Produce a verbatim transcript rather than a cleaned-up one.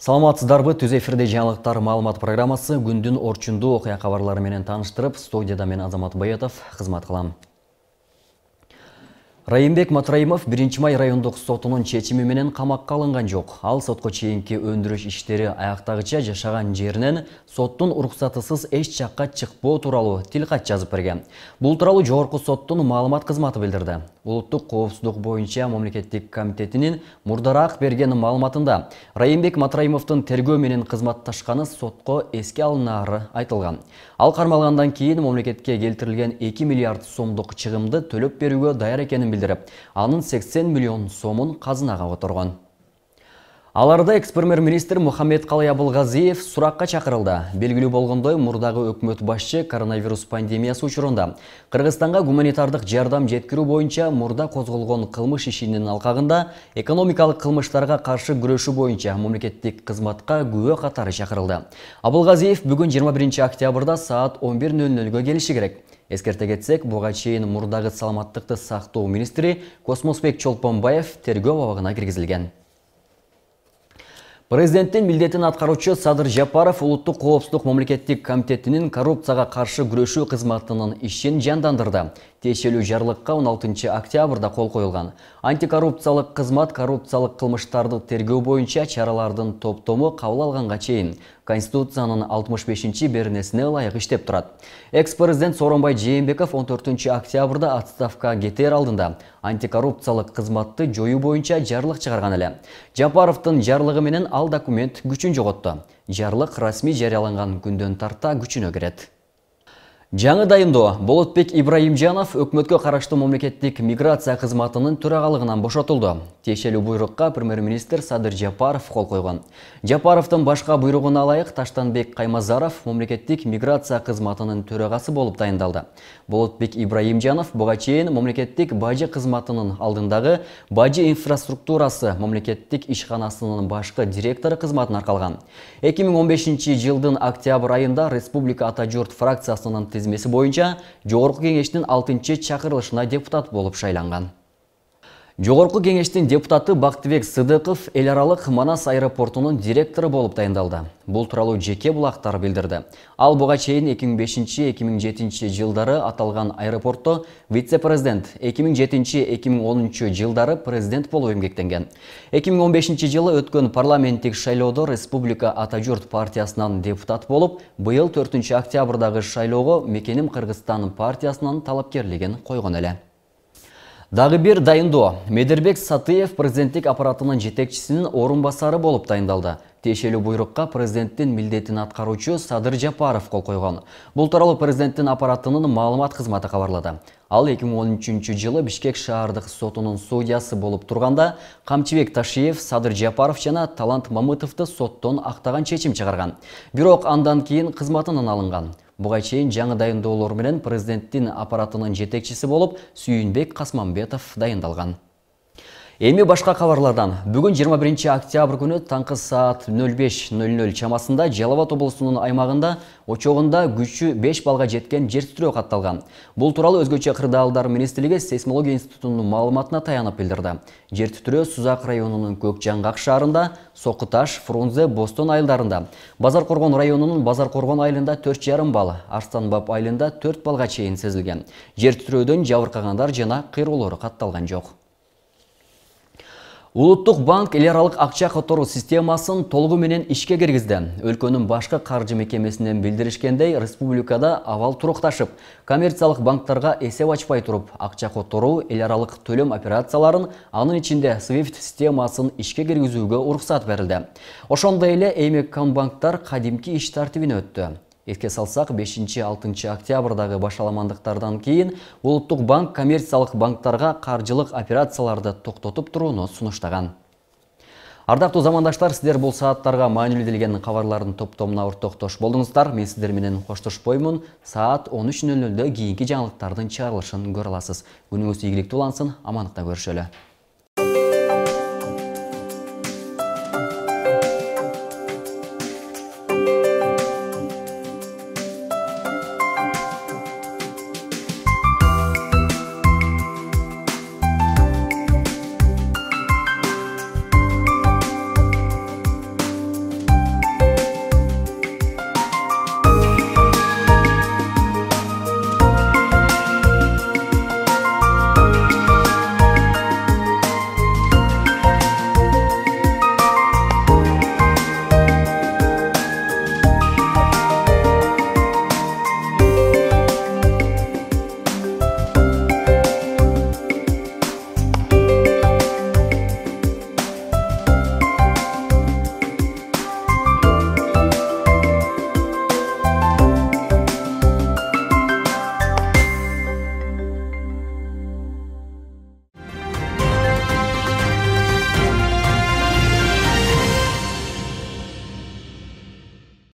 Саламатсыздарбы, түз эфирде жаңылыктар маалымат программасы күндүн орчундуу окуя кабарлары менен тааныштырып, студияда мен Азамат Баятов кызмат кылам. Райымбек Матраимов биринчи май райондук сотунун чечими менен камакка алынган жок. Ал сотко чейинки өндүрүш иштери аяктагыча жашаган жеринен соттун уруксатысыз эч жакка чыкпоо тууралуу тил кат жазып берген. Бул тууралуу жогорку соттун маалымат кызматы билдирди. Улуттук коопсуздук боюнча мамлекеттик комитетинин мурдараак берген маалыматында Райымбек Матраимовдун тергөө менен кызматташканы сотко эске алынары айтылган. Ал кармалгандан кийин мамлекетке келтирилген эки миллиард сомдук чыгымды төлөп берүүгө даяр экенин билдирип, анын сексен миллион сомун казынага которгон. Аларда экс-премьер-министр Мухаммед Калай Абылгазиев суракка чакырылды. Белгилүү болгондой, мурдагы өкмөт башчы коронавирус пандемиясы учурунда Кыргызстанга гуманитардык жардам жеткирүү боюнча мурда козголгон кылмыш ишинин алкагында экономикалык кылмыштарга каршы күрөшүү боюнча мамлекеттик кызматка күбө катары чакырылды. Абылгазиев бүгүн жыйырма биринчи октябрда саат он бир нөл нөлгө келиши керек. Эскерте кетсек, буга чейин мурдагы саламаттыкты сактоо министри Космосбек Чолпонбаев тергөө абагына киргизилген. Президенттин милдетин аткаруучу Садыр Жапаров Улуттук коопсуздук мамлекеттик комитетинин коррупцияга каршы күрөшүү кызматынын ишин жандандырды. Тиешелүү жарлыкка он алтынчы октябрда кол коюлган. Антикоррупциялык кызмат коррупциялык кылмыштарды тергөө боюнча чаралардын топтому кабыл алганга чейин Конституциянын алтымыш бешинчи беренесине ылайык иштеп турат. Экс-президент Сооронбай Жээнбеков он төртүнчү октябрда отставкага кетер алдында антикоррупциялык кызматты жоюу боюнча жарлык чыгарган эле. Жапаровдун жарлыгы менен ал документ күчүн жоготту. Жарлык расмий жарыяланган күндөн тарта күчүнө кирет. Жаңы дайындоо Болотбек Ибраимжанов өкмөткө караштуу мамлекеттик миграция кызматынын төрагалыгынан бошотулду. Тиешелүү буйрукка премьер-министр Садыр Жапаров кол койгон. Жапаровдун башка буйругуна ылайык Таштанбек Каймазаров мамлекеттик миграция кызматынын төрагасы болуп дайындалды. Болотбек Ибраимжанов буга чейин мамлекеттик бажы кызматынын алдындагы бажы инфраструктурасы мамлекеттик ишканасынын башкы директору кызматын аркалган. эки миң он бешинчи жылдын октябрь айында Республика Ата журт фракциясынын тизмеси боюнча Жогорку кеңештин алтынчы чакырылышына депутат болуп шайланган. Жогорку кеңештин депутаты Бактыбек Сыдыков эл аралык Манас аэропортунун директору болуп дайындалды. Бул тууралуу жеке булактар билдирди. Ал буга чейин эки миң бешинчи — эки миң жетинчи жылдары аталган аэропортто вице-президент, эки миң жетинчи — эки миң онунчу жылдары президент болуп эмгектенген. эки миң он бешинчи жылы өткөн парламенттик шайлоодо Республика Ата журт партиясынан депутат болуп, быйыл төртүнчү октябрдагы шайлоого Мекеним Кыргызстан партиясынын талапкерлигин койгон эле. Дагы бир дайындоо. Медербек Сатыев президенттик аппаратынын жетекчисинин орун басары болуп дайындалды. Тиешелүү буйрукка президенттин милдетин аткаруучу Садыр Жапаров кол койгон. Бул тууралуу президенттин аппаратынын маалымат кызматы кабарлады. Ал эки миң он үчүнчү жылы Бишкек шаардык сотунун судьясы болуп турганда Камчыбек Ташиев, Садыр Жапаров жана Талант Мамытовду соттон актаган чечим чыгарган. Бирок андан кийин кызматынан алынган. Буга чейин жаңы дайындоолор менен президенттин аппаратынын жетекчиси болуп Сүйүнбек Касманбетов дайындалган. Эми башка кабарлардан. Бүгүн жыйырма биринчи октябрь күнү таңкы саат нөл беш нөл нөл чамасында Жалал Абад облусунун аймагында очогунда күчү беш балга жеткен жер титирөө катталган. Бул тууралуу Өзгөчө кырдаалдар министрлиги сейсмология институтунун маалыматына таянып билдирди. Жер титирөө Сузак районунун Көк Жаңгак шаарында, Сокуташ, Фрунзе, Бостон айылдарында, Базар Коргон районунун Базар Коргон айылында төрт жарым бал, Арстанбаб айылында төрт балга чейин сезилген. Жер титирөөдөн жабыркагандар жана кыйроолор катталган жок. Улуттук банк эл аралык акча которуу системасын толугу менен ишке киргизди. Өлкөнүн башкы каржы мекемесинен билдиришкендей, республикада абал турукташып, коммерциялык банктарга эсеп ачпай туруп, акча которуу, эл аралык төлөм операцияларын, анын ичинде свифт системасын ишке киргизүүгө уруксат берилди. Ошондой эле Эймеккомбанктар кадимки иш тартибине өттү. Эске салсак, бешинчи — алтынчы октябрдагы башаламандыктардан кийин Улуттук банк коммерциялык банктарга каржылык операцияларды токтотуп турууну сунуштаган. Ардактуу замандаштар, сиздер бул сааттарга маанилүү делген кабарлардын топтомуна ортоктош болдуңуздар. Мен сиздер менен коштошпоймун. Саат он үч нөл нөлдө кийинки жаңылыктардын чыгарылышын көрө аласыз. Күнүңүз ийгиликтүү улансын, амандыкта көрүшөлү.